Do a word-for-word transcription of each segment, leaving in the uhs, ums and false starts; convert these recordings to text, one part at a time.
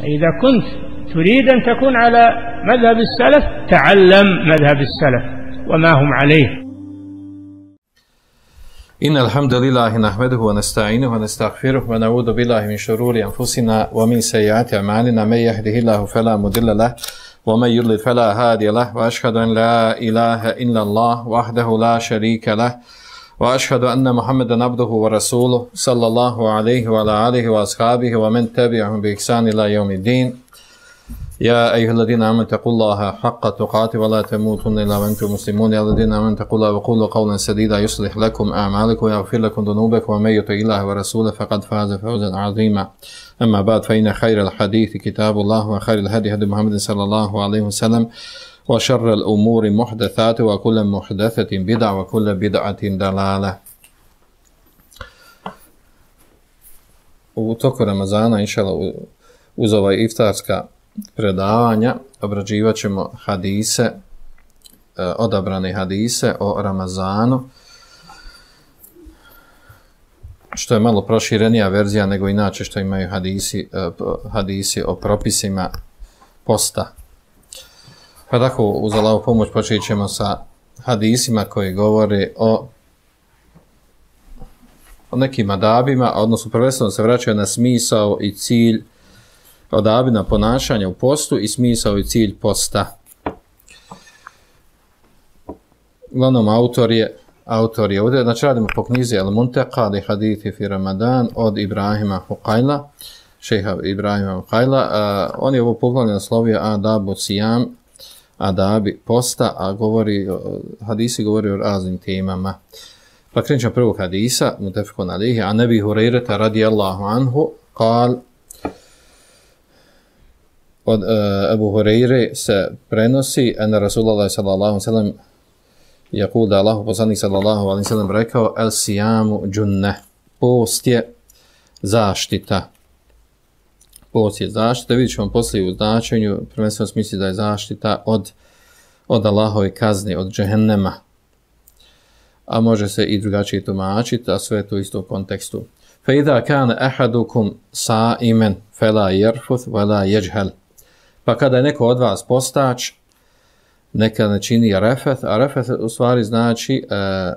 إذا كنت تريد أن تكون على مذهب السلف تعلم مذهب السلف وما هم عليه. إن الحمد لله نحمده ونستعينه ونستغفره ونعوذ بالله من شرور أنفسنا ومن سيئات أعمالنا من يهده الله فلا مضل له ومن يضلل فلا هادي له وأشهد أن لا إله إلا الله وحده لا شريك له وأشهد أن محمدا عبده ورسوله صلى الله عليه وعلى آله وأصحابه ومن تبعهم بإحسان إلى يوم الدين. يا أيها الذين آمنوا اتقوا الله حق تقاته ولا تموتن إلا وأنتم مسلمون. يا الذين آمنوا اتقوا الله وقولوا قولا سديدا يصلح لكم أعمالكم ويغفر لكم ذنوبكم ومن يطع الله ورسوله فقد فاز فوزا عظيما. أما بعد فإن خير الحديث كتاب الله وخير الهدي هدي محمد صلى الله عليه وسلم وشر الأمور محدثات وكل محدثة بدعة وكل بدعة ضلالة. U toku Ramazana, inšallah, uz ovaj iftarska predavanja obrađivat ćemo hadise, odabrane hadise o Ramazanu, što je malo proširenija verzija nego inače što imaju hadisi, hadisi o propisima posta. Pa tako, uz Allahovu pomoć počet ćemo sa hadisima koji govore o, o nekim adabima, odnosno prvenstveno se vraćaju na smisao i cilj adabina ponašanja u postu i smisao i cilj posta. Uglavnom, autor je, autor je ovdje, znači radimo po knjizi Al-Munteqa li hadithi fi Ramadan od Ibrahima Huqajla, šeha Ibrahima Huqajla. Uh, on je ovo poglavlje naslovio Adabu Sijam, adabi posta, a govori, hadisi govori o raznim temama. Pa krenut ćemo prvog hadisa, mutefekun alihi, a Nebi Hurajrata radijallahu anhu, kal, od uh, Ebu Hurajre se prenosi, ena Rasulullah sallallahu alaihi sallam, jakul da Allahu poslanik sallallahu alaihi sallam rekao, el sijamu džunne, post je zaštita. Post je zaštita, vidjet ćemo poslije u značenju, prvenstveno smisli da je zaštita od, od Allahove kazne, od džehennema. A može se i drugačije tumačiti, a sve to isto u kontekstu. Fa idha kana ahadukum sa'iman fala yarfuth wala yajhal. Pa kada je neko od vas postač, neka ne čini refeth, a refeth u stvari znači e,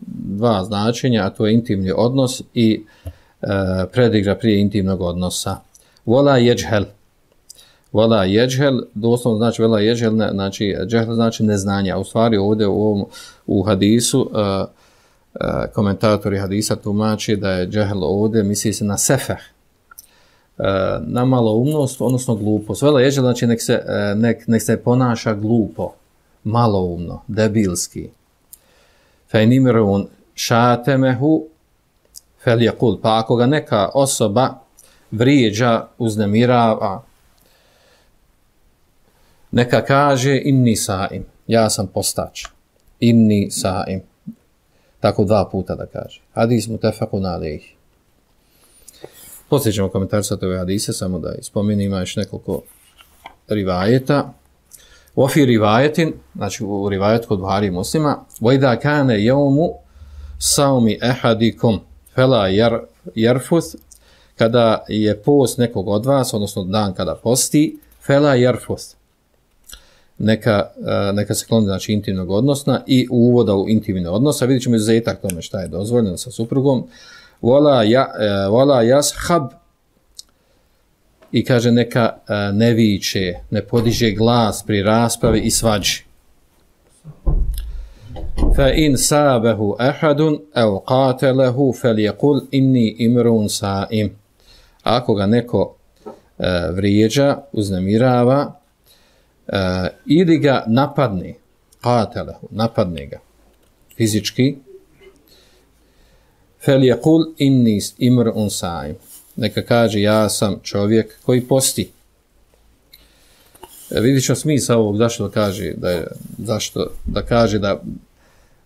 dva značenja, a to je intimni odnos i e, predigra prije intimnog odnosa. Wala yajhal. Wala yajhal, doslovno znači wala yajhal, znači džehl znači neznanje. A u stvari ovdje u, ovom, u hadisu e, e, komentatori hadisa tumači da je džehl ovdje, misli se na sefeh, na maloumnost, odnosno glupost. Vela jeđel, znači nek se, nek, nek se ponaša glupo, maloumno, debilski. Fejnimirun šatemehu fel jakul. Pa ako ga neka osoba vrijeđa, uznemirava, neka kaže inni saim, ja sam postač. Inni saim. Tako dva puta da kaže. Hadis mutefekun alejhi. Poslije ćemo komentarisati ove hadise, samo da ispominimo, ima još nekoliko rivajeta. Ofi rivajetin, znači u rivajetu kod Buhari i Muslima, وَإِذَا كَانَ يَوْمُ سَوْمِ أَحَدِكُمْ فَلَا يَرْفُثْ, kada je post nekog od vas, odnosno dan kada posti, فَلَا يَرْفُثْ, neka, neka se kloni, znači intimnog odnosna i uvoda u intimni odnos, a vidjet ćemo izuzetak tome šta je dozvoljeno sa suprugom. Wala ja, wala yashab, i kaže neka ne viče, ne podiže glas pri raspravi i svađi. Fa in sabahu ahadun aw qatalahu falyaqul inni imrun sa'im. Ako ga neko uh, vrijeđa, uznemirava, uh, ili ga napadne, qatalahu, napadne ga fizički, فَلْيَقُلْ إِنِّي إِمْرُؤٌ صَائِمٌ, neka kaže ja sam čovjek koji posti. E, vidit ćemo smisao ovog, zašto da kaže da, je, zašto da kaže da,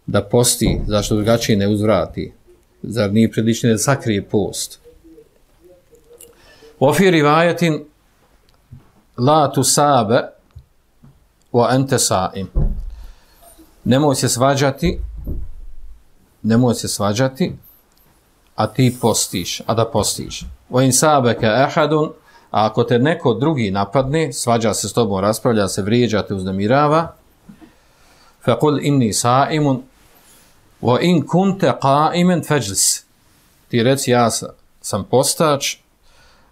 da posti, zašto drugačije ne uzvrati, zar nije prilično da sakrije post. وَفِي رِوَايَةٍ لَا تُسَابَ وَأَنْتَ صَائِمٌ, nemoj se svađati, nemoj se svađati, a ti postiš, a da postiš. وَإِنْ سَابَكَ أَحَدٌ A ako te neko drugi napadne, svađa se s tobom, raspravlja se, vrijeđa te, uznemirava, faqul inni sa'imun wa in kunta qa'iman fajlis. Ti reci ja sam postač,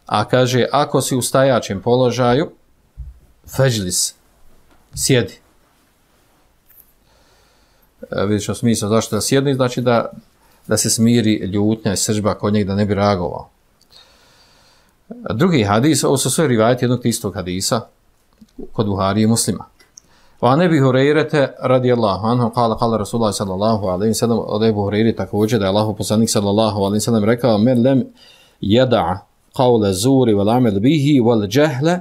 a kaže ako si u stajačem položaju, fajlis, sjedi. E, vidiš što smisla, zašto da sjedni, znači da, da se smiri ljutnja i sržba kod njeg, da ne bi reagovao. Drugi hadis, ovo su sve rivajati jednog istog hadisa kod Buhari i Muslima. Wa an Abi Hurajrata radijallahu anhu qala qala Rasulullah sallallahu alejhi ve sellem, od Ebu Hurajre također da je Allahov poslanik sallallahu alejhi ve sellem rekao: "Men lem yada qawla zuri wal amal bihi wal jahla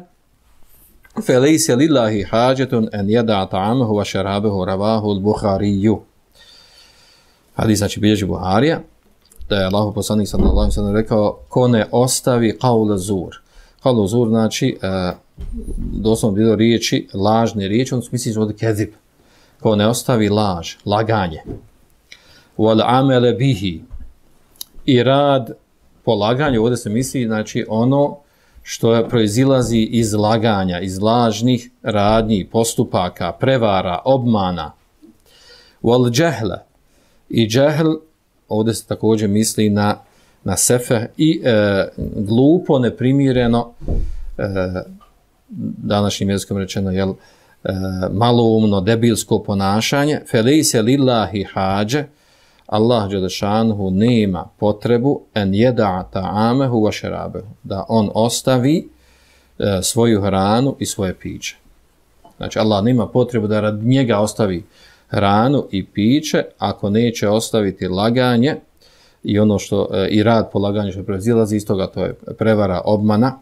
falaysa lillahi hajatun an yada ta'amahu wa sharabahu", rawahu al-Bukhari. Hadis znači bilježi Buharija, da je Allahov poslanik sallallahu alejhi ve sellem rekao: "Ko ne ostavi qawla zur". Qawla zur znači uh, doslovno bilo riječi, lažne riječi, on misli od kezib. Ko ne ostavi laž, laganje. Wal amele bihi. I rad po laganju, ovdje se misli, znači ono što je proizilazi iz laganja, iz lažnih radnji, postupaka, prevara, obmana. Wal jahle. I jahl, ovdje se također misli na, na sefe i e, glupo, neprimireno, e, današnjim jezikom rečeno, jel, e, maloumno, debilsko ponašanje. Felejse lillahi hađe, Allah dželešanhu nema potrebu en jeda ta'amehu wa šerabehu, da on ostavi e, svoju hranu i svoje piće. Znači, Allah nema potrebu da rad njega ostavi hranu i piće, ako neće ostaviti laganje i ono što e, i rad po laganju što proizilazi iz toga, to je prevara, obmana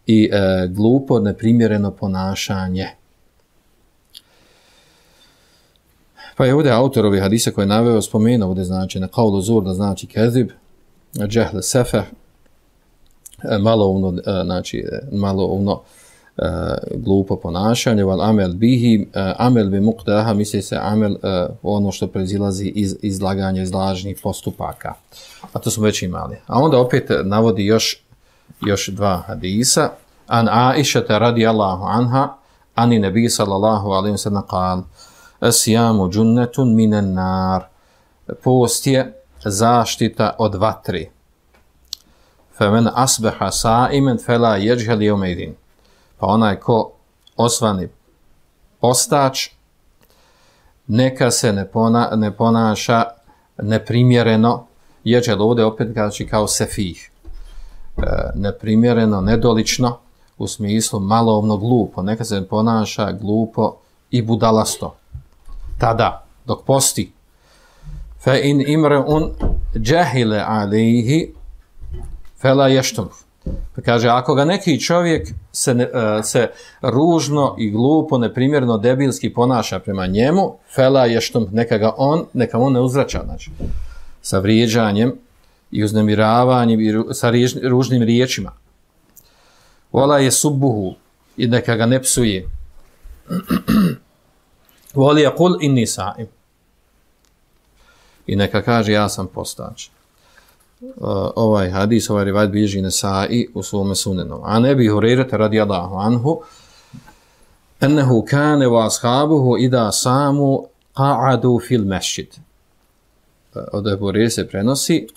i e, glupo, neprimjereno ponašanje. Pa je ovdje autor ovih hadisa koji je naveo spomenuo ovdje znači na qawlu zur, da znači kezib, jahl sefeh, maloumno, znači maloumno, glupo ponašanje, wal amel bihi, amel bi muqdaha, misli se amel ono što proizilazi iz izlaganja iz lažnih postupaka. A to smo već imali. A onda opet navodi još još dva hadisa. An Aisha radijallahu anha, ani nebi sallallahu alejhi ve sellem qal: "As-siyamu junnatun minan nar." Post je zaštita od vatri. Fa men asbaha sa'iman fala yajhal yawmaydin. Pa onaj ko osvani postač, neka se ne, pona, ne ponaša neprimjereno, jeđel ovdje opet znači kao sefih, e, neprimjereno, nedolično, u smislu maloumno, glupo, neka se ne ponaša glupo i budalasto. Tada, dok posti, fa in imre'un jahile alejhi fela yashtum. Pa kaže, ako ga neki čovjek se, ne, uh, se ružno i glupo, neprimjerno, debilski ponaša prema njemu, fela je što neka ga on, neka on ne uzvraća, znači, sa vrijeđanjem i uznemiravanjem i ru, sa riječ, ružnim riječima. Vola je subbuhu i neka ga ne psuje. Voli je kul inni sa'im. I neka kaže, ja sam postač. Uh, ovaj hadis, ovaj rivajat bilježi Nesai u svome sunenu. A Ebu Hurajrata radijallahu anhu, ennehu kane wa ashabuhu ida samu qa'adu fil mesjid. Uh, od Ebu Hurajre se prenosi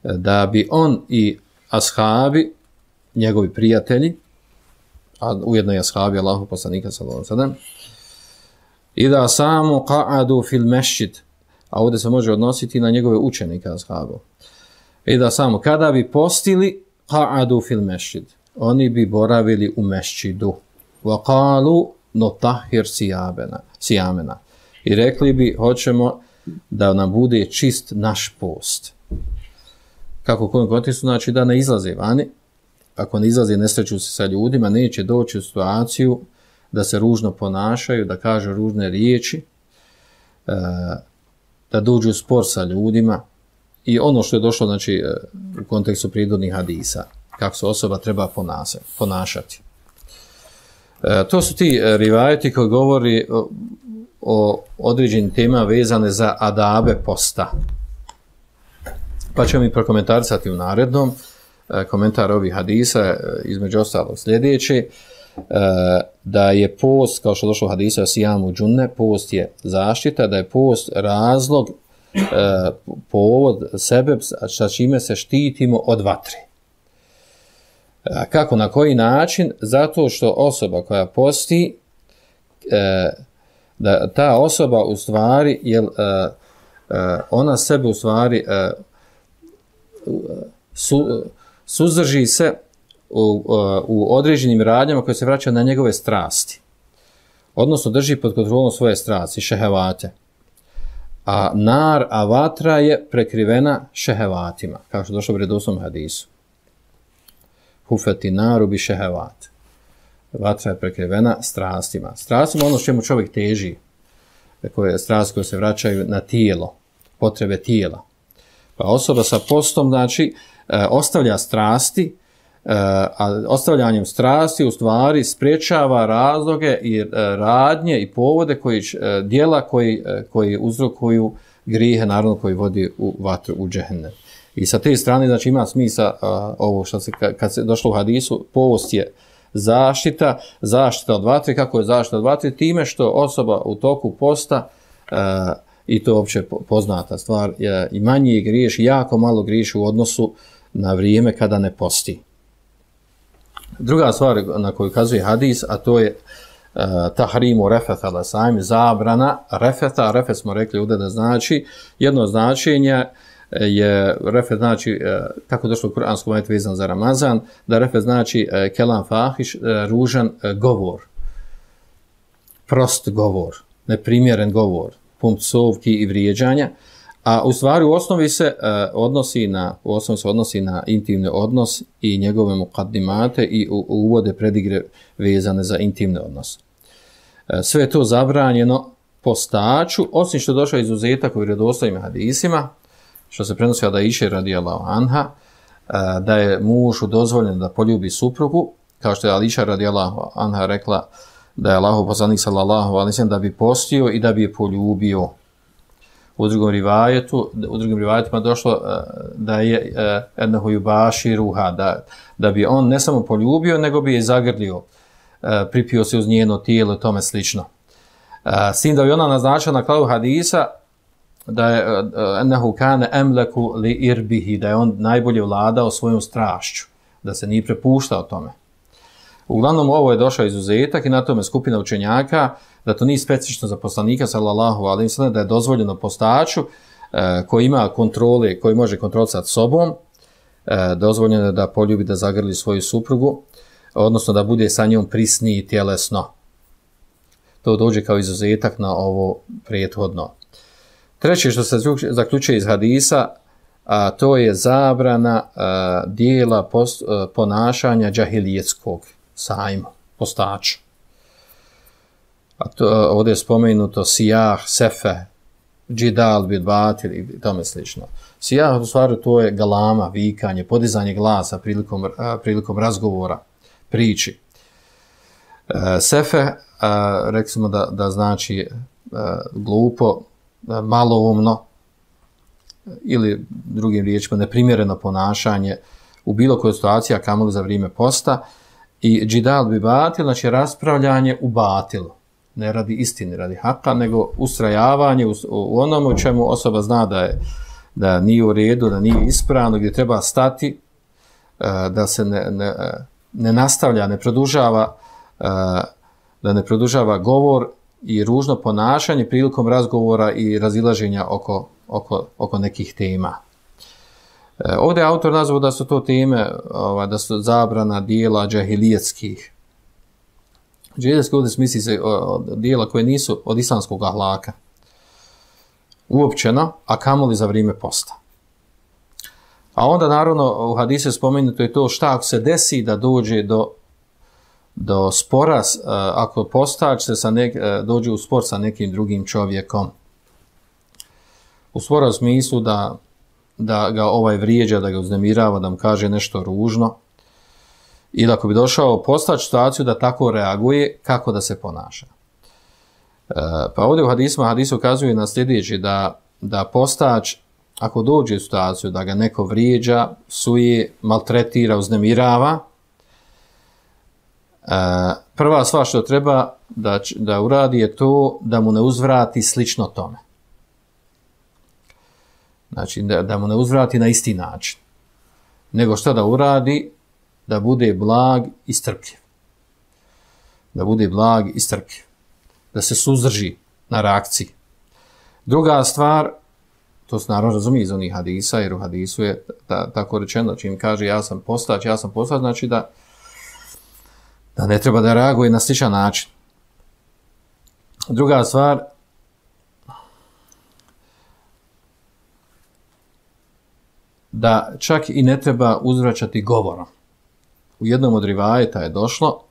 da bi on i ashabi, njegovi prijatelji, a ujedno i ashabi Allahu poslanika sallallahu alejhi ve sellem, ida samu qa'adu fil mesjid, a ovdje se može odnositi na njegove učenike ashabu. I da samo, kada bi postili, qa'adu fil mešćid, oni bi boravili u mešćidu. Wa qalu notahhir sijamena. I rekli bi, hoćemo da nam bude čist naš post. Kako u kojem kontekstu, znači da ne izlaze vani. Ako ne izlaze, ne sreću se sa ljudima, neće doći u situaciju da se ružno ponašaju, da kažu ružne riječi, da dođu u spor sa ljudima. I ono što je došlo, znači, u kontekstu prirodnih hadisa, kako se osoba treba ponašati. E, to su ti rivajeti koji govori o, o određenim temama vezane za adabe posta. Pa ćemo mi prokomentarisati u narednom. komentar ovih hadisa, između ostalog sljedeće, da je post, kao što došlo u hadisu o sijamu džunne, post je zaštita, da je post razlog, povod sebe sa čime se štitimo od vatre. Kako, na koji način? Zato što osoba koja posti, da ta osoba u stvari, jel, ona sebe u stvari su, suzdrži se u, u određenim radnjama koje se vraćaju na njegove strasti. Odnosno drži pod kontrolom svoje strasti, šehevate. A nar, a vatra je prekrivena šehevatima, kao što došlo u redosnom hadisu. Hufeti naru bi šehevat. Vatra je prekrivena strastima. Strastima ono čemu čovjek teži, koje strasti koje se vraćaju na tijelo, potrebe tijela. Pa osoba sa postom, znači, ostavlja strasti, a ostavljanjem strasti u stvari spriječava razloge i radnje i povode koji, djela koji, koji uzrokuju grijehe, naravno koji vodi u vatru, u džehennem. I sa te strane, znači, ima smisla ovo što se, kad se došlo u hadisu, post je zaštita, zaštita od vatre. Kako je zaštita od vatre? Time što osoba u toku posta, i to je uopće poznata stvar, i manje griješi, jako malo griješi u odnosu na vrijeme kada ne posti. Druga stvar na koju kazuje hadis, a to je uh, tahrimu refeta la sajmi, zabrana refeta. Refet smo rekli ovdje da znači, jedno značenje je, refet znači, uh, kako došlo u kuranskom ajetu vezan za Ramazan, da refet znači uh, kelam fahiš, uh, ružan uh, govor, prost govor, neprimjeren govor, pun psovki i vrijeđanja. A u stvari u osnovi se uh, odnosi na u osnovi se odnosi na intimni odnos i njegove mukaddimate i u, u uvode predigre vezane za intimni odnos. Uh, sve je to zabranjeno postaču, osim što došao izuzetak u vjerodostojnim hadisima, što se prenosi od Aiše radijallahu anha, uh, da je mužu dozvoljeno da poljubi suprugu, kao što je Aiša radijallahu anha rekla da je Allahov poslanik sallallahu alejhi ve sellem da bi postio i da bi je poljubio. U drugom rivajetu, u drugim rivajetima došlo uh, da je ennehu yubaširuha, da, da bi on ne samo poljubio, nego bi je zagrlio, uh, pripio se uz njeno tijelo i tome slično. Uh, s tim da bi ona naznačila na kraju hadisa da je ennehu kane emleku li irbihi, da je on najbolje vladao svojom strašću, da se nije prepuštao tome. Uglavnom, ovo je došao izuzetak i na tome skupina učenjaka, da to nije specifično za poslanika, sallallahu alejhi ve sellem, da je dozvoljeno postaču e, koji ima kontrole, koji može kontrolisati sobom, e, dozvoljeno je da poljubi, da zagrli svoju suprugu, odnosno da bude sa njom prisniji tjelesno. To dođe kao izuzetak na ovo prethodno. Treće što se zaključuje iz hadisa, a to je zabrana a, dijela post, a, ponašanja džahilijetskog sajma, postača. A to, ovdje je spomenuto sijah, sefe, džidal, bidbatil i tome slično. Sijah, u stvari, to je galama, vikanje, podizanje glasa prilikom, a, prilikom razgovora, priči. A, sefe, a, reksimo da, da znači a, glupo, a, maloumno, ili drugim riječima neprimjereno ponašanje u bilo kojoj situaciji, a kamoli za vrijeme posta. I džidal bi batil, znači raspravljanje u batilu. Ne radi istine, radi haka, nego ustrajavanje u, u onom u čemu osoba zna da je da nije u redu, da nije ispravno, gdje treba stati, da se ne, ne, ne nastavlja, ne produžava, da ne produžava govor i ružno ponašanje prilikom razgovora i razilaženja oko, oko, oko nekih tema. Ovdje je autor nazvao da su to teme, da su zabrana dijela džahilijetskih. Džahilijetski ovdje smisli se dijela koje nisu od islamskog ahlaka. Uopćeno, a kamoli za vrijeme posta. A onda naravno u hadisu spomenuto je to šta ako se desi da dođe do, do spora, ako postač se sa nek, dođe u spor sa nekim drugim čovjekom. U spora u smislu da da ga ovaj vrijeđa, da ga uznemirava, da mu kaže nešto ružno. Ili ako bi došao postač situaciju da tako reaguje, kako da se ponaša. E, pa ovdje u hadisma, hadis ukazuje na sljedeći da, da postač ako dođe u situaciju da ga neko vrijeđa, psuje, maltretira, uznemirava, prva stvar što treba da, da uradi je to da mu ne uzvrati slično tome. Znači, da, da mu ne uzvrati na isti način. Nego što da uradi? Da bude blag i strpljiv. Da bude blag i strpljiv. Da se suzdrži na reakciji. Druga stvar, to se naravno razumije iz onih hadisa, jer u hadisu je ta, tako rečeno, čim kaže ja sam postać, ja sam postać, znači da, da ne treba da reaguje na sličan način. Druga stvar, da čak i ne treba uzvraćati govorom. U jednom od rivajeta je došlo,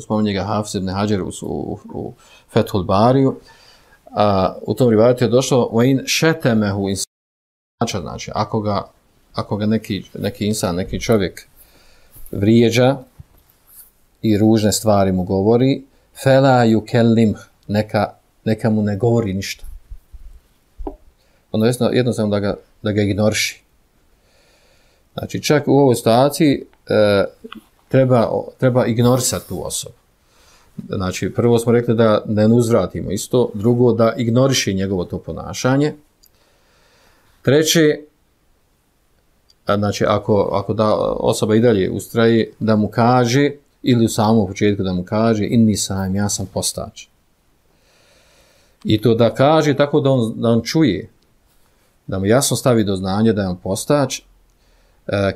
spominje ga Hafiz ibn Hadžer u, u, u Fethul Bariju, a u tom rivajetu je došlo وَإِنْ شَتَمَهُ insan, znači ako ga, ako ga neki, neki insan, neki čovjek vrijeđa i ružne stvari mu govori, فَلَا يُكَلِّمْ, neka, neka mu ne govori ništa. Ono jednostavno da ga, da ga ignoriši. Znači čak u ovoj situaciji e, treba, treba ignorisati tu osobu. Znači, prvo smo rekli da ne uzvratimo isto, drugo da ignoriši njegovo to ponašanje. Treće, znači, ako, ako da osoba i dalje ustraje, da mu kaže, ili u samom početku da mu kaže, inni sam, ja sam postač. I to da kaže tako da on, da on čuje, da mu jasno stavi do znanja da je on postač,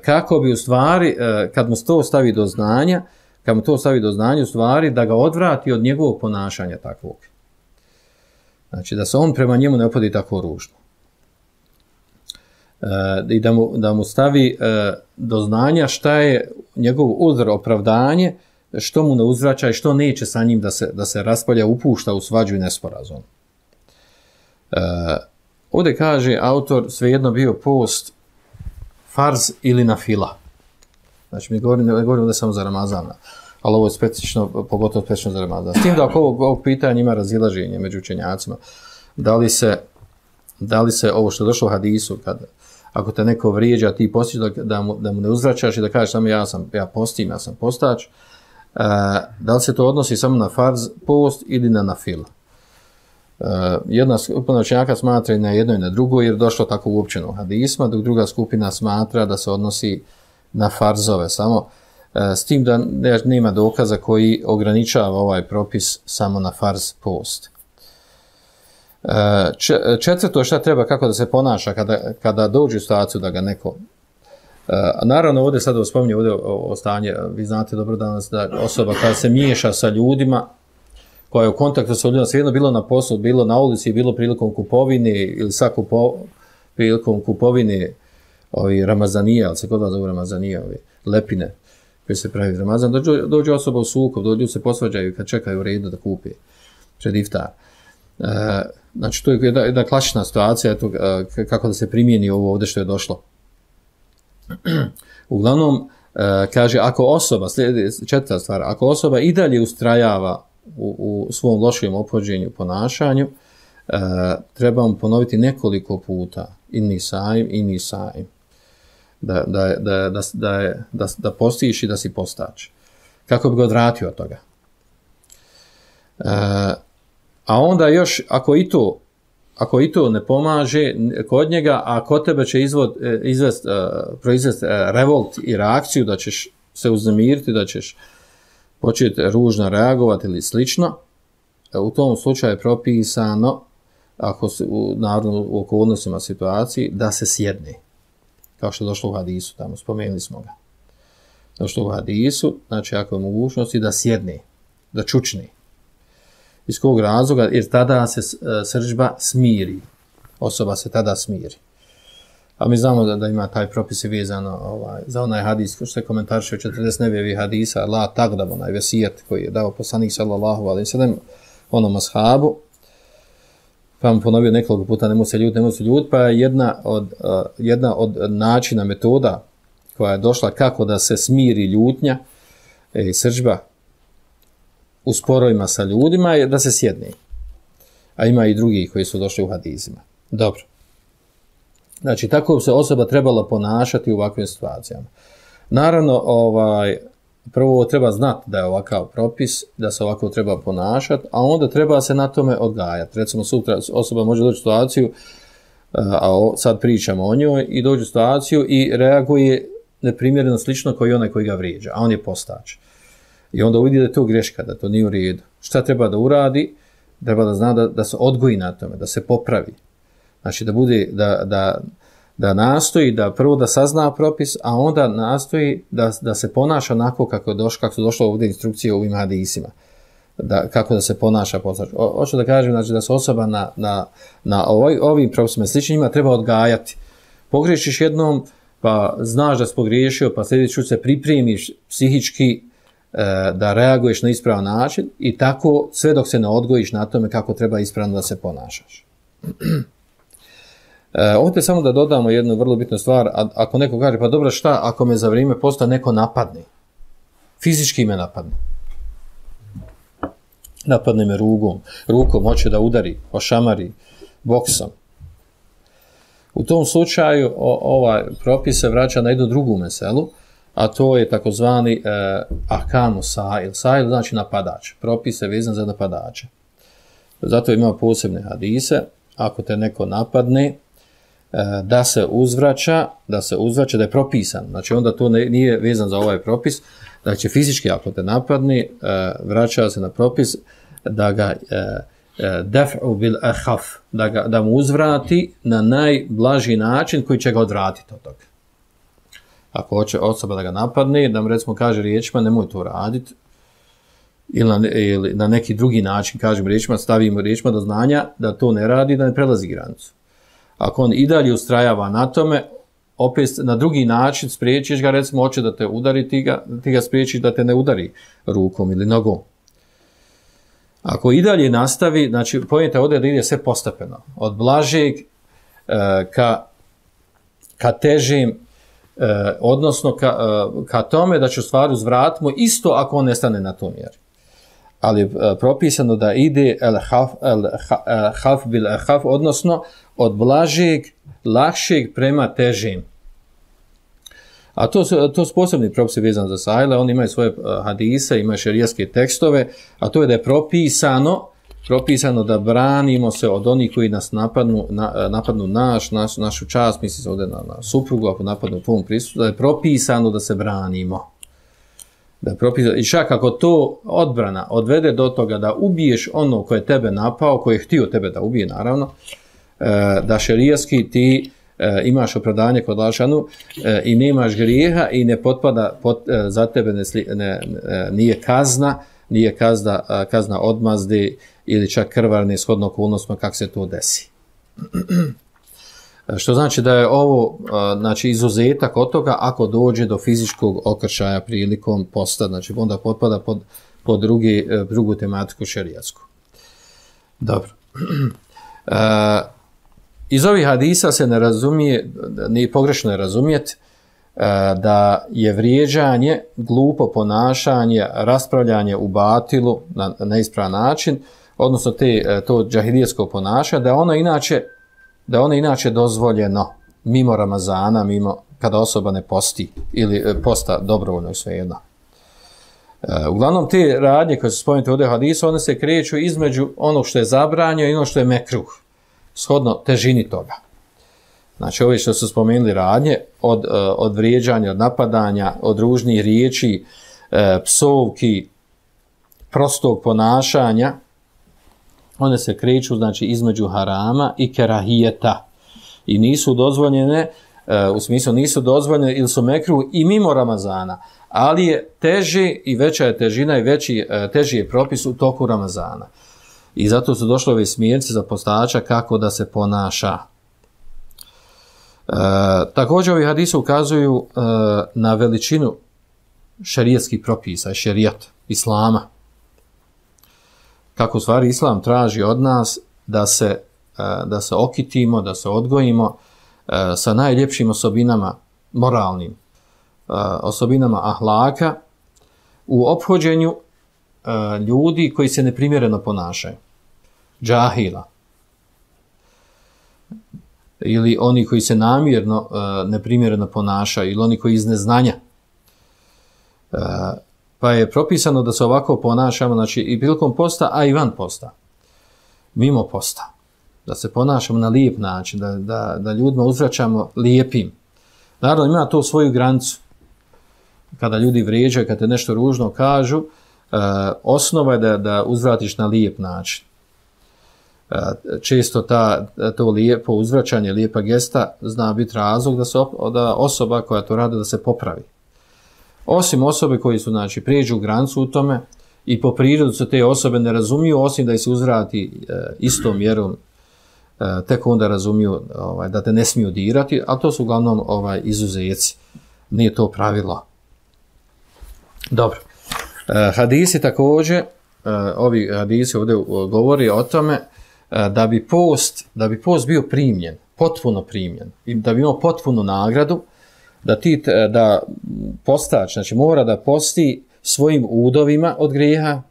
kako bi u stvari, kad mu to stavi do znanja, kad mu to stavi do znanja, u stvari da ga odvrati od njegovog ponašanja takvog. Znači, da se on prema njemu ne opodi tako ružno. E, I da mu, da mu stavi e, do znanja šta je njegov uzor, opravdanje, što mu ne uzvraća i što neće sa njim da se, da se raspalja, upušta u svađu i nesporazum. E, ovdje kaže autor, svejedno bio post farz ili nafila. Znači, mi govorimo, ne govorimo da samo za Ramazana, ali ovo je specifično, pogotovo specifično za Ramazan. S tim da oko ovog, ovog pitanja ima razilaženje među učenjacima. Da li se, da li se ovo što je došlo u hadisu, kad, ako te neko vrijeđa, ti postiš da, da, mu, da mu ne uzvraćaš i da kažeš samo ja, sam, ja postim, ja sam postač, e, da li se to odnosi samo na farz post ili na nafila? E, jedna skupina učenjaka smatra i na jedno i na drugo, jer došlo tako uopćeno u hadisma, dok druga skupina smatra da se odnosi na farzove samo, s tim da nema dokaza koji ograničava ovaj propis samo na farz post. Četvrto, šta treba, kako da se ponaša kada, kada dođe u situaciju da ga neko... Naravno, ovdje sada spominje ovdje o stanje, vi znate dobro danas da osoba kada se miješa sa ljudima, koja je u kontaktu sa ljudima, svejedno bilo na poslu, bilo na ulici, bilo prilikom kupovine ili sa kupo, prilikom kupovine ovi ramazanije, ali se kod vas zovu ramazanije, ovi lepine koji se pravi Ramazan, dođe, dođe osoba u sukob, dođu se posvađaju kad čekaju u redu da kupi pred iftar. E, znači, to je jedna, jedna klasična situacija, eto, e, kako da se primijeni ovo ovdje što je došlo. Uglavnom, e, kaže, ako osoba, slijedi, četvrta stvar, ako osoba i dalje ustrajava u, u svom lošem ophođenju, ponašanju, e, treba mu ponoviti nekoliko puta, inni saim, inni saim. Da, da, da, da, da, da, da postiš i da si postač. Kako bi ga odvratio od toga. E, a onda još, ako i to, ako i to ne pomaže kod njega, a kod tebe će izvod, izvest, proizvesti revolt i reakciju, da ćeš se uznemiriti, da ćeš početi ružno reagovati ili slično, u tom slučaju je propisano, ako se u, naravno, u okolnostima situaciji, da se sjedne. Kao što je došlo u hadisu, tamo spomenuli smo ga. Došlo u hadisu, znači ako je mogućnosti da sjedne, da čučne. Iz kog razloga? Jer tada se srdžba smiri. Osoba se tada smiri. A mi znamo da, da ima taj propis vezano ovaj, za onaj hadis, što se komentariše u četrdeset nevjevih hadisa, la tagdab, onaj vesijet koji je dao poslanik sallallahu alejhi ve sellem onom ashabu, pa mu ponovio nekoliko puta, nemoj se ljut, nemoj se ljut, pa je jedna od, uh, jedna od načina, metoda koja je došla kako da se smiri ljutnja i srdžba u sporovima sa ljudima je da se sjedne. A ima i drugi koji su došli u hadizima. Dobro. Znači, tako bi se osoba trebala ponašati u ovakvim situacijama. Naravno, ovaj, prvo treba znati da je ovakav propis, da se ovako treba ponašati, a onda treba se na tome odgajati. Recimo, sutra osoba može doći u situaciju, a sad pričamo o njoj, i dođe u situaciju i reaguje neprimjereno slično kao i onaj koji ga vrijeđa, a on je postač. I onda uvidi da je to greška, da to nije u redu. Šta treba da uradi? Treba da zna da, da se odgoji na tome, da se popravi. Znači da bude, da, da, da nastoji, da prvo da sazna propis, a onda nastoji da, da se ponaša onako kako, doš, kako su došlo ovdje instrukcije u ovim hadisima. Da, kako da se ponaša postač. Hoću da kažem, znači, da se osoba na, na, na ovoj, ovim propisima sličnjima treba odgajati. Pogrešiš jednom, pa znaš da si pogriješio, pa sljedeći se pripremiš psihički e, da reaguješ na ispravan način i tako sve dok se ne odgojiš na tome kako treba ispravno da se ponašaš. E, ovdje samo da dodamo jednu vrlo bitnu stvar, a, ako neko kaže, pa dobro, šta ako me za vrijeme posta neko napadne? Fizički me napadne. Napadne me rugom, rukom, hoće da udari, ošamari, boksom. U tom slučaju o, ovaj propis se vraća na jednu drugu meselu, a to je takozvani e, ahkamu sa'il. Sa'il znači napadač. Propis je vezan za napadače. Zato ima posebne hadise. Ako te neko napadne, e, da se uzvraća, da se uzvraća, da je propisan. Znači onda to ne, nije vezan za ovaj propis. Znači fizički ako te napadne, e, vraća se na propis da ga e, daf'u bil ahaf, da, ga, da mu uzvrati na najblaži način koji će ga odvratiti od toga. Ako hoće osoba da ga napadne, da mu recimo kaže riječima nemoj to raditi, ili na, ili na neki drugi način kažem riječima, stavimo riječima do znanja da to ne radi, da ne prelazi granicu. Ako on i dalje ustrajava na tome, opet na drugi način spriječiš ga, recimo hoće da te udari, ti ga, ti ga spriječiš da te ne udari rukom ili nogom. Ako i dalje nastavi, znači pojenta ovdje da ide sve postepeno. Od blažeg e, ka, ka težim, e, odnosno ka, e, ka tome da će u stvari uzvratimo isto ako on nestane na tom mjeri. Ali e, propisano da ide el haf, el haf bil haf, odnosno od blažeg, lakšeg prema težim. A to su, to su posebni propisi vezani za sajle, oni imaju svoje hadise, imaju šerijatske tekstove, a to je da je propisano, propisano da branimo se od onih koji nas napadnu, na, napadnu naš, naš, našu čast, misli se ovdje na, na suprugu, ako napadnu pun prisutu, da je propisano da se branimo. Da je propisano, i čak ako to odbrana odvede do toga da ubiješ ono koje je tebe napao, koje je htio tebe da ubije, naravno, da šerijatski ti E, imaš opravdanje kod Lašanu e, i nemaš grijeha i ne potpada pot, e, za tebe ne, ne, ne, nije kazna, nije kazna, kazna odmazde ili čak krvarne shodno okolnostima kako se to desi. Što znači da je ovo znači, izuzetak od toga ako dođe do fizičkog okršaja prilikom posta, znači onda potpada pod, pod drugi, drugu tematiku šerijatsku. Dobro. E, Iz ovih hadisa se ne razumije, ni pogrešno je razumjeti, da je vrijeđanje, glupo ponašanje, raspravljanje u batilu na neispravan način, odnosno te, to džahilijetsko ponašanje, da ono inače, da ono inače dozvoljeno mimo Ramazana, mimo kada osoba ne posti ili posta dobrovoljno i svejedno. Uglavnom te radnje koje su spomenute ovdje u hadisu, one se kreću između onog što je zabranjeno i ono što je mekruh, shodno težini toga. Znači, ove što su spomenuli radnje, od, od vrijeđanja, od napadanja, od ružnih riječi, psovki, prostog ponašanja, one se kreću, znači, između harama i kerahijeta. I nisu dozvoljene, u smislu nisu dozvoljene ili su mekruh i mimo Ramazana, ali je teži i veća je težina i veći, teži je propis u toku Ramazana. I zato su došle ove smjernice za postača kako da se ponaša. E, također ovi hadisi ukazuju e, na veličinu šerijatskih propisa, šerijat, islama. Kako u stvari islam traži od nas da se, e, da se okitimo, da se odgojimo e, sa najljepšim osobinama moralnim, e, osobinama ahlaka u ophođenju e, ljudi koji se neprimjereno ponašaju. Džahila. ili oni koji se namjerno uh, neprimjereno ponašaju, ili oni koji iz neznanja. Uh, pa je propisano da se ovako ponašamo, znači i prilikom posta, a i van posta, mimo posta, da se ponašamo na lijep način, da, da, da ljudima uzvraćamo lijepim. Naravno, ima to svoju granicu. Kada ljudi vrijeđaju, kada te nešto ružno kažu, uh, osnova je da, da uzvratiš na lijep način. Uh, često ta, to lijepo uzvraćanje, lijepa gesta zna biti razlog da, se op, da osoba koja to radi da se popravi. Osim osobe koji su, znači, prijeđu granicu u tome i po prirodu se te osobe ne razumiju, osim da ih se uzvrati uh, istom mjerom, uh, tek onda razumiju ovaj, da te ne smiju dirati, a to su uglavnom ovaj, izuzeci. Nije to pravilo. Dobro. Uh, hadisi također, uh, ovi hadisi ovdje govori o tome uh, da bi post, da bi post bio primljen, potpuno primljen, i da bi imao potpunu nagradu, da ti da postač, znači mora da posti svojim udovima od grijeha.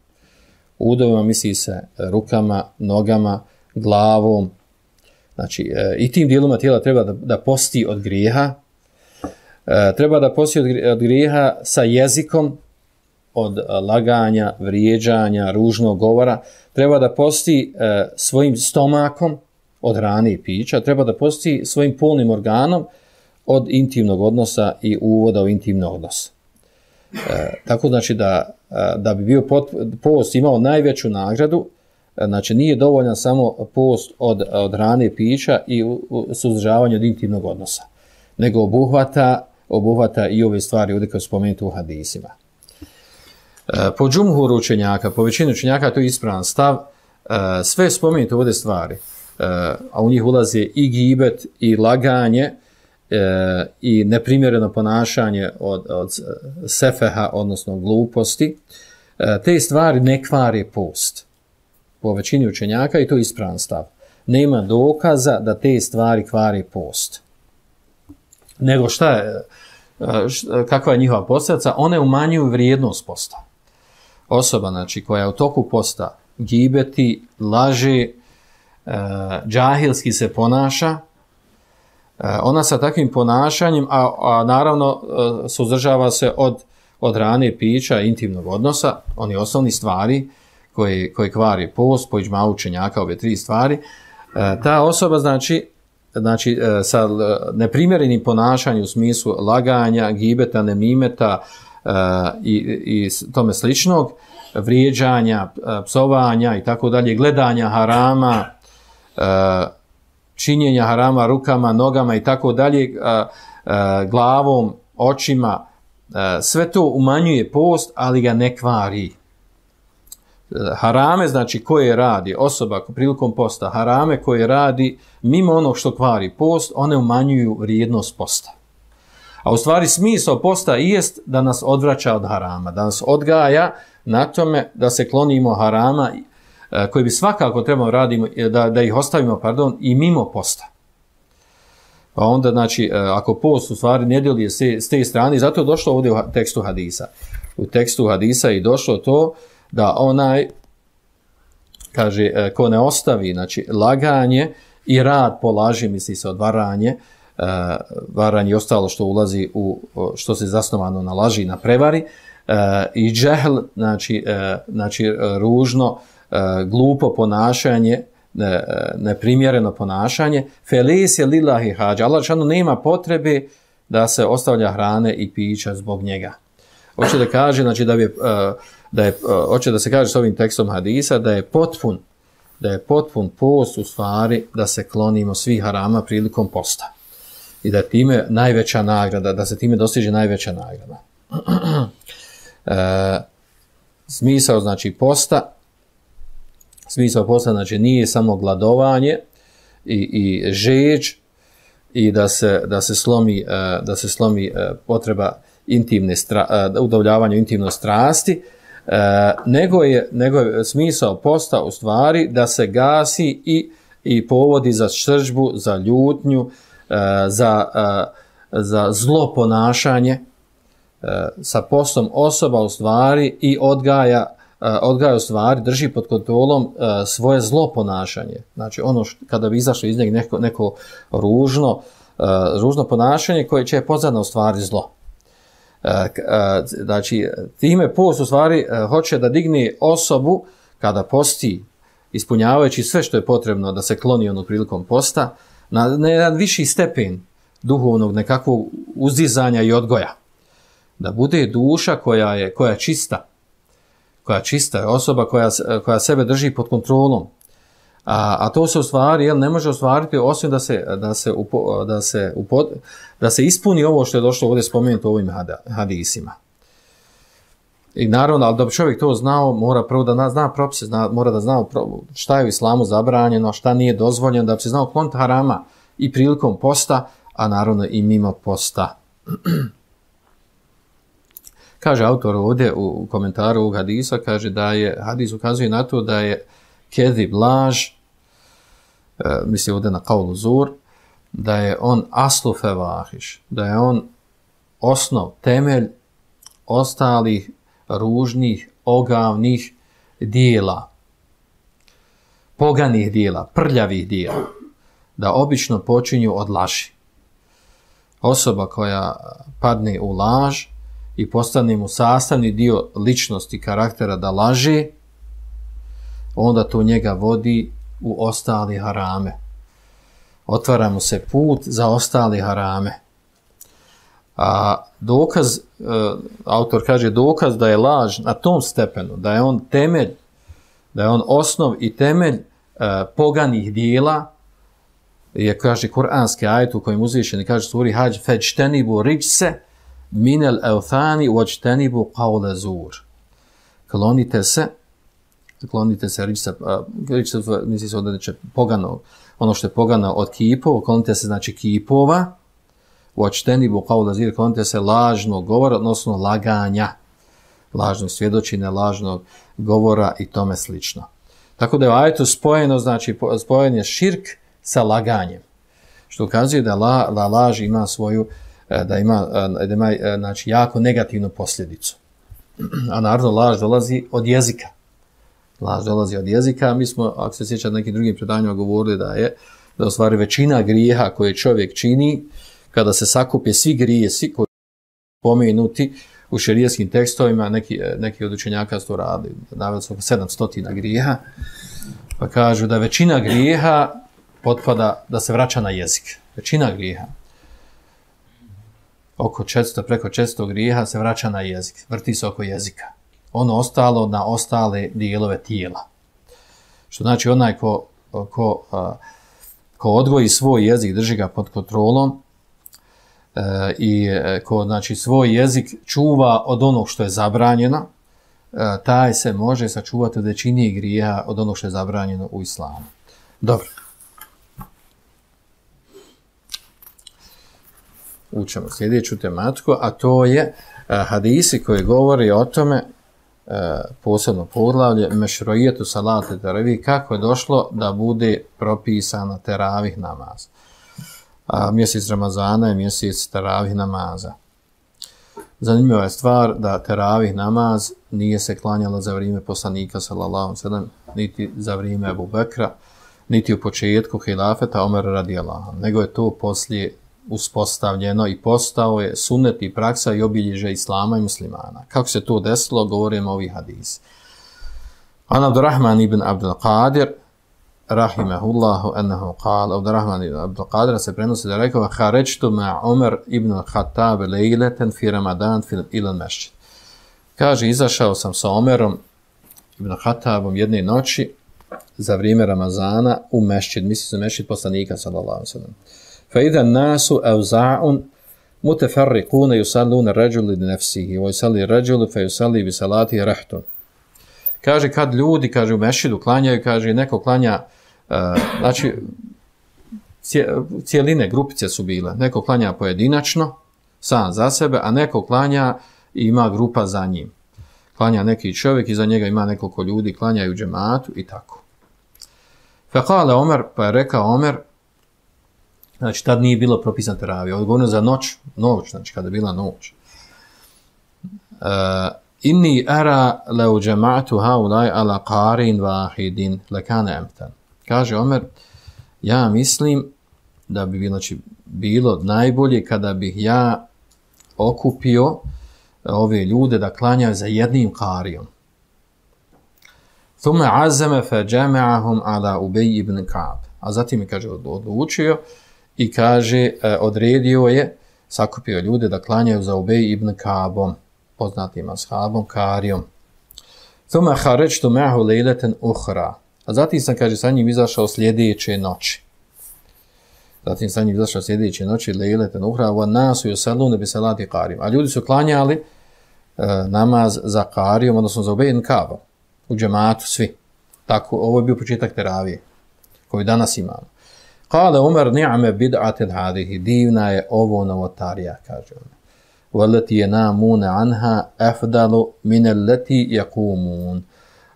Udovima misli se rukama, nogama, glavom, znači uh, i tim dijelima tijela treba da, da posti od grijeha. Uh, treba da posti od, od grijeha sa jezikom, od laganja, vrijeđanja, ružnog govora, treba da posti e, svojim stomakom od hrane i pića, treba da posti svojim polnim organom od intimnog odnosa i uvoda u intimni odnos. E, tako znači da, da bi bio pot, post imao najveću nagradu, znači nije dovoljan samo post od, od hrane i pića i suzdržavanje od intimnog odnosa, nego obuhvata, obuhvata i ove stvari ovdje koje su spomenuti u hadisima. Po džumhuru učenjaka, po većini učenjaka to je ispravan stav, sve spomenute ovdje stvari, a u njih ulaze i gibet, i laganje, i neprimjereno ponašanje od, od sefeha, odnosno gluposti, te stvari ne kvari post. Po većini učenjaka i to je ispravan stav. Nema dokaza da te stvari kvari post. Nego šta je, kakva je njihova posljedica? One umanjuju vrijednost posta. Osoba, znači, koja u toku posta gibeti, laže, e, džahilski se ponaša, e, ona sa takvim ponašanjem, a, a naravno e, suzdržava se od, od hrane, pića, intimnog odnosa, oni osnovni stvari koje, koje kvari post, po iđmau učenjaka, ove tri stvari, e, ta osoba, znači, znači e, sa neprimjerenim ponašanjem u smislu laganja, gibeta, nemimeta, Uh, i, i tome sličnog, vrijeđanja, psovanja i tako dalje, gledanja harama, uh, činjenja harama rukama, nogama i tako dalje, uh, uh, glavom, očima, uh, sve to umanjuje post, ali ga ne kvari. Uh, harame, znači koje radi osoba prilikom posta, harame koje radi mimo onog što kvari post, one umanjuju vrijednost posta. A u stvari smisao posta i jest da nas odvraća od harama, da nas odgaja na tome da se klonimo harama koji bi svakako trebamo radimo, da, da ih ostavimo pardon, i mimo posta. Pa onda, znači, ako post u stvari ne djeluje s te strane, zato je došlo ovdje u tekstu hadisa. U tekstu hadisa je došlo to da onaj, kaže, ko ne ostavi, znači, laganje i rad po laži, misli se od varanje, Uh, varanje i ostalo što ulazi u, što se zasnovano na laži i na prevari, uh, i džehl, znači, uh, znači ružno, uh, glupo ponašanje, ne, neprimjereno ponašanje, felis je lillahi hađa, Allah šanu nema potrebe da se ostavlja hrane i pića zbog njega. Hoće da kaže, znači, da, bi, uh, da je, uh, hoće da se kaže s ovim tekstom hadisa da je potpun, da je potpun post u stvari da se klonimo svih harama prilikom posta. I da je time najveća nagrada, da se time dostiže najveća nagrada. e, smisao, znači, posta, smisao posta, znači, nije samo gladovanje i, i žeđ i da se, da se slomi, da se slomi potreba intimne stra, udavljavanja intimne strasti, nego je, nego je smisao posta u stvari da se gasi i, i povodi za sržbu, za ljutnju, Za, za zlo ponašanje. Sa postom osoba u stvari i odgaja odgaja u stvari, drži pod kontrolom uh, svoje zlo ponašanje. Znači ono što, kada bi izašlo iz njega neko, neko ružno, uh, ružno ponašanje koje će pozadno u stvari zlo. Uh, uh, znači time post u stvari uh, hoće da digne osobu kada posti, ispunjavajući sve što je potrebno da se kloni ono prilikom posta, na, na jedan viši stepen duhovnog nekakvog uzdizanja i odgoja. Da bude duša koja je, koja je čista, koja čista je osoba koja, koja sebe drži pod kontrolom. A, a to se u stvari, jel, ne može ostvariti osim da se, da se, upo, da se, upo, da se ispuni ovo što je došlo ovdje spomenuto u ovim hadisima. I naravno, ali da bi čovjek to znao, mora prvo da zna propise, zna, mora da zna šta je u islamu zabranjeno, šta nije dozvoljeno, da bi se znao kloniti harama i prilikom posta, a naravno i mimo posta. Kaže autor ovdje u komentaru ovog hadisa, kaže da je, hadis ukazuje na to da je kedib, laž, e, misli ovdje na kaulu zur, da je on aslu fevahiš, da je on osnov, temelj ostalih ružnih, ogavnih dijela, poganih dijela, prljavih dijela, da obično počinju od laži. Osoba koja padne u laž i postane mu sastavni dio ličnosti, karaktera da laže, onda to njega vodi u ostali harame. Otvara mu se put za ostali harame. A dokaz, autor kaže, dokaz da je laž na tom stepenu, da je on temelj, da je on osnov i temelj poganih dijela, je, kaže, kuranski ajet u kojem uzvišeni kaže suri Hadž, feđtenibu riđse minel euthani vođtenibu qawle zur. Klonite se, klonite se riđse, riđse, misli se ovdje neće pogano, ono što je pogano od kipova, klonite se znači kipova, vođtenibu qawle zur, klonite se lažnog govora, odnosno laganja, lažnog svjedočine, lažnog govora i tome slično. Tako da je u ajetu spojeno, znači spojen je širk sa laganjem, što ukazuje da, la, da laž ima svoju, da ima, da ima znači, jako negativnu posljedicu. A naravno laž dolazi od jezika. Laž dolazi od jezika. Mi smo, ako se sjećate nekim drugim predanjima, govorili da je da u stvari većina grijeha koje čovjek čini, kada se sakupe svi grijesi koji su pomenuti u šerijskim tekstovima, neki, neki od učenjaka su to radili, naveli su oko sedamsto grijeha, pa kažu da većina grijeha potpada da se vraća na jezik. Većina grijeha, oko četiristo, preko četiristo grijeha se vraća na jezik, vrti se oko jezika. Ono ostalo na ostale dijelove tijela. Što znači onaj ko, ko, ko odgoji svoj jezik, drži ga pod kontrolom i ko znači, svoj jezik čuva od onog što je zabranjeno, taj se može sačuvati od većine grijeha od onog što je zabranjeno u islamu. Dobro. Učemo sljedeću tematiku, a to je uh, hadisi koji govori o tome, uh, posebno poglavlje, mešroijetu salate teravih, kako je došlo da bude propisana teravih namaz. A mjesec Ramazana je mjesec teravih namaza. Zanimljiva je stvar da teravih namaz nije se klanjala za vrijeme poslanika sallallahu alejhi ve sellem, niti za vrijeme Ebu Bekra, niti u početku hilafeta Omer radijallahu anhu, nego je to poslije uspostavljeno i postao je sunnet i praksa i obilježje islama i muslimana. Kako se to desilo, govorimo ovi hadisi. An Abdurrahman ibn Abdul Qadir, rahimahullahu, ennehu qala, Abdurrahman ibn Abdul Qadir se prenosi da je rekao, harećtu ma Umar ibn Khattab lejleten fi Ramadan fil ilal mešćid. Kaže, izašao sam sa Omerom ibn Khattabom jedne noći za vrijeme Ramazana u mešćid, misli se mešćid poslanika sallallahu alejhi ve sellem. فإذا الناس أوزاع متفرقون يصلون الرجل لنفسه ويصلي الرجل فيصلي بصلاته رحت. Kaže, kad ljudi, kaže, u mešidu klanjaju, kaže, neko klanja, uh, znači, cijeline, grupice su bile. Neko klanja pojedinačno, sam za sebe, a neko klanja i ima grupa za njim. Klanja neki čovjek i za njega ima nekoliko ljudi, klanjaju džematu i tako. Fekale Omer, pa je rekao Omer, znači, tad nije bilo propisan teravija. Odgovorno za noć, noć, znači, kada je bila noć. Uh, inni ara lau jama'tu haulai ala qarin wahidin lakana amtan. Kaže Omer, ja mislim da bi bilo, znači, bilo najbolje kada bih ja okupio ove ljude da klanjaju za jednim qarijom. Thumma azama fa jama'ahum ala Ubej ibn Ka'b. A zatim je, kaže, odlučio i kaže, odredio je, sakupio ljude da klanjaju za Ubej ibn Ka'bom, poznatim ashabom, qarijom. Thumma kharajtu ma'ahu laylatan ukhra. A zatim sam, kaže, sa njim izašao sljedeće noći. Zatim sam njim izašao sljedeće noći, laylatan ukhra, wa nasu yusalluna bi salati qarijom. A ljudi su klanjali uh, namaz za qarijom, odnosno za Ubej ibn Ka'bom. U džematu svi. Tako, ovo je bio početak teravije koji danas imamo. Kale Umar ni'me bid'atin hadihi, divna je ovo novotarija, kaže on. Walati yanamuna anha afdalu min allati yaqumun.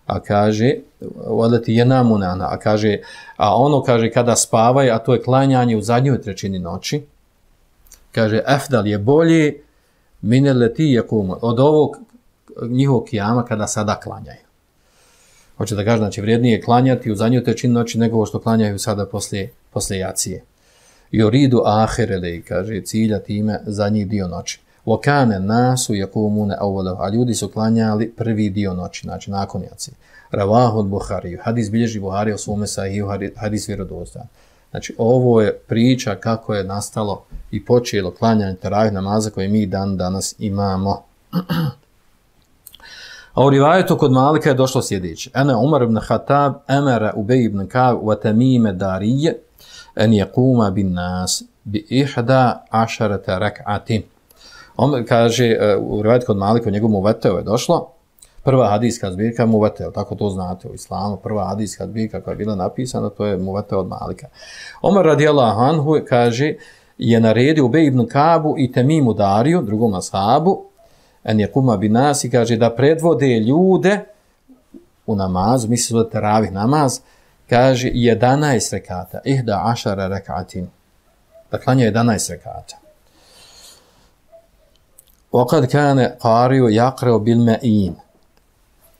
A kaže walati yanamuna anha, a kaže a ono kaže kada spavaju, a to je klanjanje u zadnjoj trećini noći. Kaže afdal je bolje min allati yaqumun, od ovog njihovog kijama kada sada klanjaju. Hoće da kaže, znači, vrijednije je klanjati u zadnjoj trećini noći nego što klanjaju sada poslije, poslije jacije. I oridu ahirele, kaže, cilja time zadnji dio noći. Vokane nasu yakumune awwalahu, a ljudi su klanjali prvi dio noći, znači nakon jacije. Ravahud Buhariju, hadis bilježi Buhari o svome sahiju, hadis vjerodostan. Znači, ovo je priča kako je nastalo i počelo klanjanje teravih namaza koje mi dan danas imamo. A u rivajetu kod Malika je došlo sljedeće. Ene Umar ibn Khattab emara Ubej ibn Ka'b wa Tamime Darije en yaquma bin nas bi ihda ašarata rak'atin. On kaže, u rivajetu kod Malika, u njegovom Muvateu je došlo, prva hadijska zbirka Muvateu, tako to znate u islamu, prva hadijska zbirka koja je bila napisana, to je Muvateu od Malika. Omar radijallahu anhu kaže, je naredio Ubej ibn Ka'bu i Tamimu Dariju, drugom ashabu, en je kuma bi nas i kaže da predvode ljude u namazu, misli da teravih namaz, kaže jedanaest rekata, ihda ašara rekatin, da klanja jedanaest rekata. Okad kane qariju jakreo bil me'in.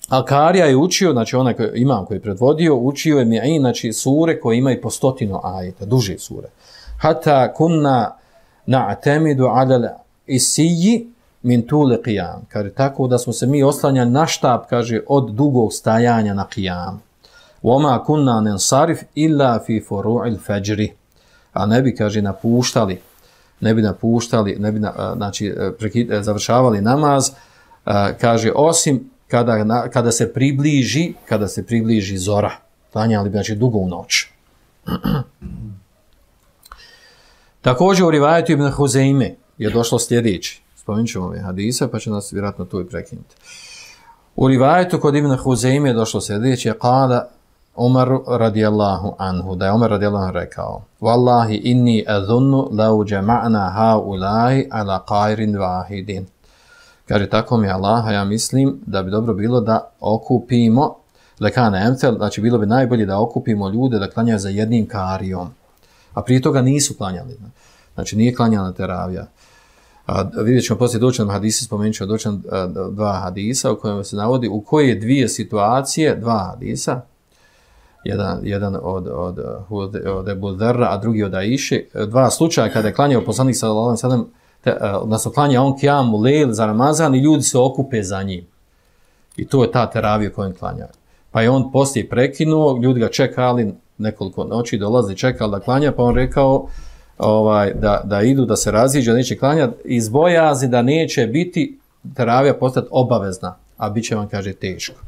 A karija je učio, znači onaj koji, imam koji je predvodio, učio je me'in, znači sure koje imaju po stotinu ajeta, duže sure. Hata kunna na'temidu ala isiji min tule qiyam. Kaže, tako da smo se mi oslanjali na štab, kaže, od dugog stajanja na qiyam. Wama kunna nensarif illa fi furu'il fajri. A ne bi, kaže, napuštali, ne bi napuštali, ne bi, na, znači, prekid, završavali namaz, kaže, osim kada, kada se približi, kada se približi zora. Klanjali bi, znači, dugo u noć. Također u rivajetu Ibn Huzeime je došlo sljedeći. Spomenut ćemo ove hadise, pa će nas vjerojatno tu i prekinuti. U rivajetu kod Ibn Huzeime je došlo sljedeće, kala Umar radijallahu anhu, da je Umar radijallahu anhu rekao, Wallahi inni adhunnu lau jama'na haulai ala qairin wahidin. Kaže, tako mi Allah, ja mislim da bi dobro bilo da okupimo, lekane emtel, znači bilo bi najbolje da okupimo ljude da klanjaju za jednim karijom. A prije toga nisu klanjali. Znači nije klanjala teravija. A vidjet ćemo poslije doćan hadisa, spomenut ćemo doćan dva hadisa u kojem se navodi u koje dvije situacije, dva hadisa, jedan, jedan od, od, od, od Ebu Dharra, a drugi od Aiše, dva slučaja kada je klanjao poslanik sallallahu alejhi ve sellem, odnosno klanja on kijamu lejl za Ramazan i ljudi se okupe za njim. I to je ta teravija koju klanja. Pa je on poslije prekinuo, ljudi ga čekali nekoliko noći, dolazi čekali da klanja, pa on rekao ovaj, da, da idu, da se raziđe, neće klanjati, iz bojazni da neće biti teravija postati obavezna, a bit će vam, kaže, teško.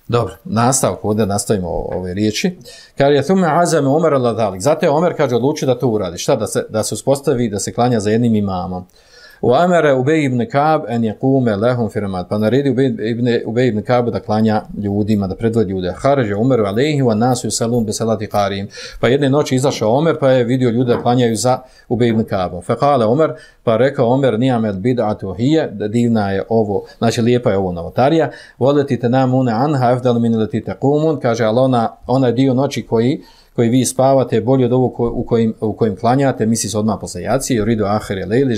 Dobro, nastavak, ovdje nastavimo ove riječi. Kaže, je thume azame Omer al-Adalik. Zato je Omer, kaže, odlučio da to uradi. Šta? Da se, da se uspostavi, da se klanja za jednim imamom. U amere Ubej ibn Ka'b en yaqume lahum fi ramad. Pa naredi Ubej ibn Ka'b da klanja ljudima, da predvodi ljude. Harađe Umeru alejhi wa nasu yusallun bi salati qarim. Pa jedne noći izašao Omer, pa je vidio ljude da klanjaju za Ubej ibn Ka'bom. Fa qala Omer, pa rekao Omer, ni'mal bid'atu hiya, divna je ovo, znači lijepa je ovo novotarija. Voleti tanamuna anha afdal min allati taqumun, kaže, al ona ona dio noći koji koji vi spavate je bolji od ovog u kojim, u kojim klanjate, misli se odmah posle jacije, ridu ahire lejli,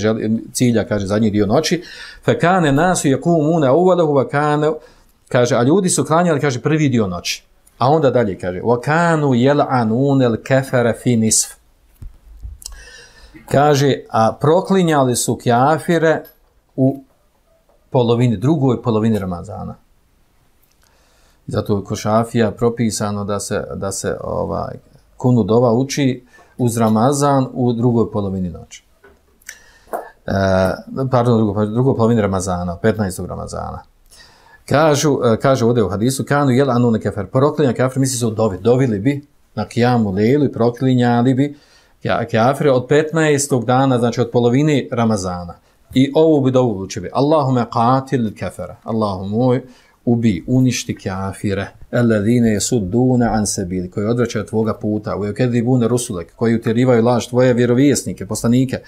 cilja, kaže, zadnji dio noći, fe kane nasu jakumuna uvalahu, va kane, kaže, a ljudi su klanjali, kaže, prvi dio noći. A onda dalje kaže, wa kanu yal'anun al-kafara fi nisf. Kaže, a proklinjali su kafire u polovini, drugoj polovini Ramazana. Zato je kod Šafija propisano da se, da se ovaj, kunu dova uči uz Ramazan u drugoj polovini noći. E, pardon, drugoj, drugoj polovini Ramazana, petnaestog Ramazana. Kažu, kaže ovdje u hadisu, kanu jel anu nekefer, proklinja kafir, misli se u dovi, dovili bi na kijamu lejlu i proklinjali bi kafire od petnaestog dana, znači od polovine Ramazana. I ovu bi dovu uči bi, Allahume qatil kafara, Allahu moj, ubi, uništi kafire, alladhine yasudduna an sabili, koji odvraćaju tvoga puta, u yukadibuna rusulek, koji utjerivaju laž tvoje vjerovjesnike, poslanike,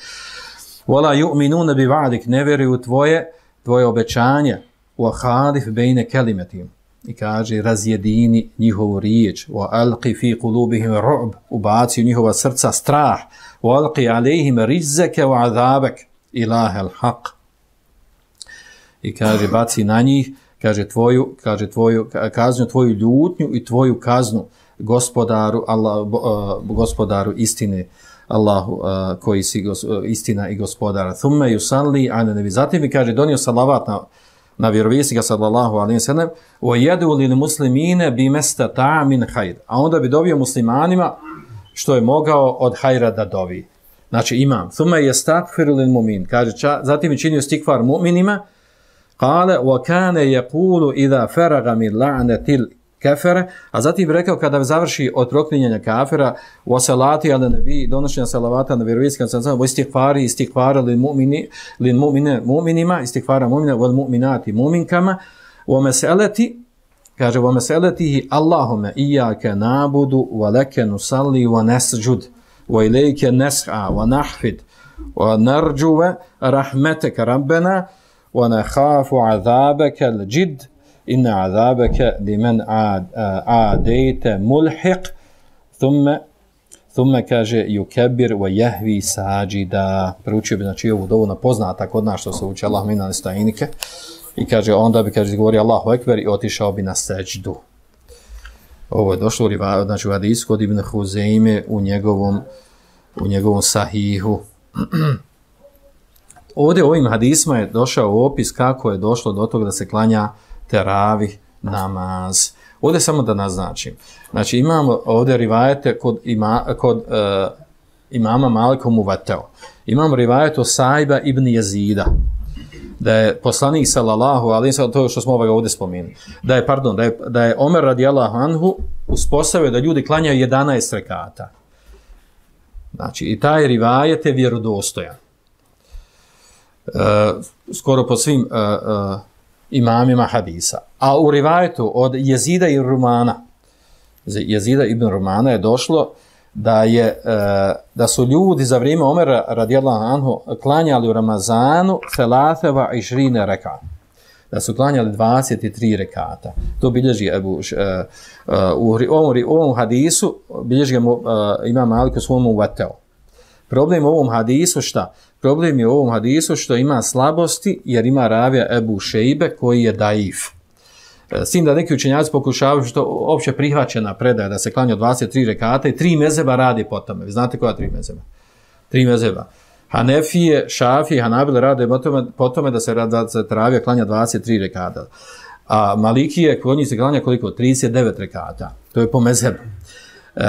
wala yu'minuna bi va'dik, ne vjeruju tvoje, tvoje obećanje, wa khadif bejne kelimetim, i kaže razjedini njihovu riječ, wa alqi fi qulubihim ru'b, ubaci u njihova srca strah, wa alqi alejhim rizzeke wa azabek, ilaha al-haq, i kaže baci na njih, kaže tvoju, kaže tvoju kaznu, tvoju ljutnju i tvoju kaznu gospodaru, Allah, gospodaru istine, Allahu uh, koji si gos, uh, istina i gospodara. Thumme yusalli ala nabi. Zatim mi kaže donio salavat na na vjerovjesnika sallallahu alejhi ve sellem, wa yadu lil muslimine bimastata min khair. A onda bi dovio muslimanima što je mogao od hajra da dovi. Znači imam. Thumme yastaghfiru lil mu'min. Kaže ča, zatim je činio istikfar mu'minima. Qala wa kana yaqulu idha faraga min la'natil kafara, a zatim rekao kada završi od proklinjanja kafira, wa salati ala nabi, donošenja salavata na vjerovjesnika sallallahu alejhi ve sellem, istighfari istighfara lil mu'mini lil mu'mine mu'minima, istighfara mu'mina wal mu'minati mu'minkama, wa mas'alati, kaže wa mas'alatihi Allahumma iyyaka na'budu wa laka nusalli wa nasjud wa ilayka nas'a wa nahfid wa narju rahmataka rabbana wa nakhafu 'adhabaka al-jidd inna azabaka liman aadayta mulhiq, thumma thumma kaže yukabbir wa yahwi sajida. Proučio bi znači ovu dovu na poznata kod nas što se uči Allah mina nestajnike, i kaže onda bi kaže govori Allahu ekber i otišao bi na sećdu. Ovo je došlo znači u hadisu kod Ibn Huzejme u njegovom u njegovom sahihu. Ovdje ovim hadisma je došao opis kako je došlo do toga da se klanja teravih namaz. Ovdje samo da naznačim. Znači imamo ovdje rivajete kod, ima, kod uh, imama Malika Muvateo. Imamo rivajet o Sajba ibn Jezida. Da je poslanik sallallahu alejhi ve sellem, to što smo ovdje spomenuli. Da je pardon, da je da je Omer radijallahu anhu uspostavio da ljudi klanjaju jedanaest rekata. Znači i taj rivajet je vjerodostojan. Uh, skoro po svim uh, uh, imamima hadisa. A u rivajetu od Jezida i Rumana, Jezida ibn Rumana je došlo da je da su ljudi za vrijeme Omera radijallahu anhu klanjali u Ramazanu thalatheva ishrina rekat. Da su klanjali dvadeset tri rekata. To bilježi Ebu u ovom, ovom hadisu bilježi Imam Malik u svom Muvateu. Problem u ovom hadisu šta? Problem je u ovom hadisu što ima slabosti jer ima ravija Ebu Šejbe koji je daif. S tim da neki učenjaci pokušavaju što opće prihvaćena predaja da se klanja dvadeset tri rekata i tri mezeba radi po tome. Vi znate koja tri mezeba? Tri mezeba. Hanefije, Šafije, Hanabile rade po tome, po tome da se, da se ravija klanja dvadeset tri rekata. A Malikije, kod njih se klanja koliko? trideset devet rekata. To je po mezebu. E,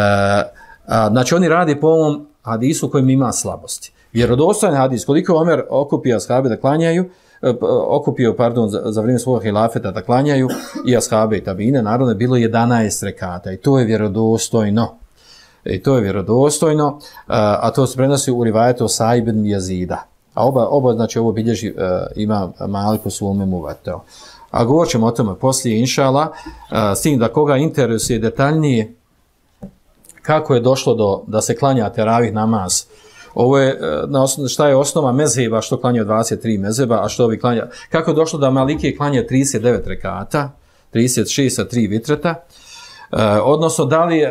a, znači oni radi po ovom hadisu kojim ima slabosti. Vjerodostojan hadis, koliko Omer okupio ashabe da klanjaju, okupio, pardon, za, za vrijeme svog hilafeta da klanjaju i ashabe i tabine, naravno je bilo jedanaest rekata i to je vjerodostojno. I to je vjerodostojno, a to se prenosi u rivajetu Sa'ib ibn Jezida. A oba, oba znači ovo bilježi uh, ima Malik u svome Muvateu. A govorit ćemo o tome poslije, inšala, uh, s tim da koga interesuje detaljnije kako je došlo do da se klanja teravih namaz. Ovo je, na osnovu, šta je osnova mezheba, što klanja dvadeset tri mezheba, a što ovi klanja, kako je došlo da Malikije klanja trideset devet rekata, trideset šest sa tri vitreta, Uh, odnosno da li, uh,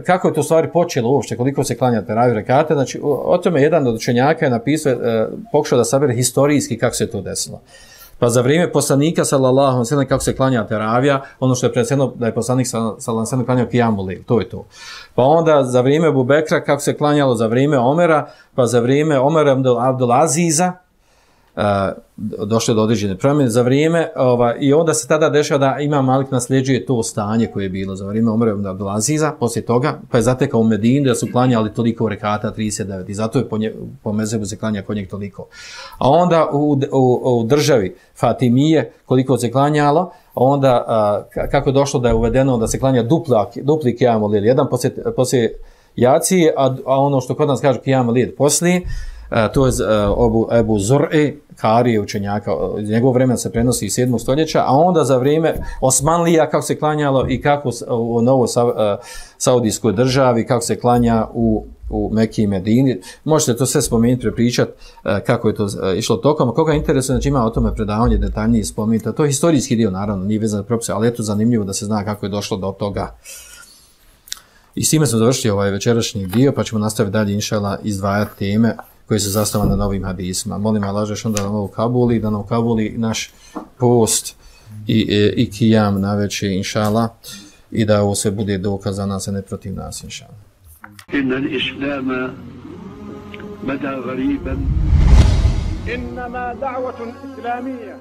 kako je to stvari počelo uopšte, koliko se klanja teraviju rekata, znači o, o tome jedan od učenjaka je napisao, uh, pokušao da sabere historijski kako se to desilo. Pa za vrijeme poslanika sallallahu alejhi ve sellem kako se klanja teravija, ono što je predsjedno da je poslanik sallallahu alejhi ve sellem klanjao kijamu lejl, to je to. Pa onda za vrijeme Ebu Bekra kako se klanjalo za vrijeme Omera, pa za vrijeme Omera Abdul Aziza, Uh, došlo do određene promjene za vrijeme ova, i onda se tada dešava da Imam Malik nasljeđuje to stanje koje je bilo za vrijeme Omera ibn Abdul Aziza, poslije toga pa je zatekao u Medini da su klanjali toliko rekata trideset devet i zato je po, nje, po mezhebu se klanja kod njeg toliko. A onda u, u, u državi Fatimije koliko se klanjalo, onda uh, kako je došlo da je uvedeno da se klanja dupla, dupli kijam lejl, jedan poslije, poslije jacije, a, a ono što kod nas kaže kijam lejl poslije. Uh, to je uh, Ebu, Ebu Zur'i, Karije učenjaka, iz njegovog vremena se prenosi iz sedmog stoljeća, a onda za vrijeme Osmanlija kako se klanjalo i kako u novoj sa, uh, saudijskoj državi, kako se klanja u, u Mekiji i Medini. Možete to sve spomenuti, prepričati uh, kako je to uh, išlo tokom. Koga interesuje, znači ima o tome predavanje detaljnije spomenuti. To je historijski dio, naravno, nije vezan za propise, ali je to zanimljivo da se zna kako je došlo do toga. I s time smo završili ovaj večerašnji dio, pa ćemo nastaviti dalje, inšallah, izdvajati teme koji se zastava na novim hadisima. Molim Allah dželle da nam ovo kabuli, da nam kabuli naš post i, i, i kijam na večer, inšallah, i da ovo sve bude dokaz za nas, a ne protiv nas, inšallah. Inna al-islama bada ghariban. Innama da'watun islamiyya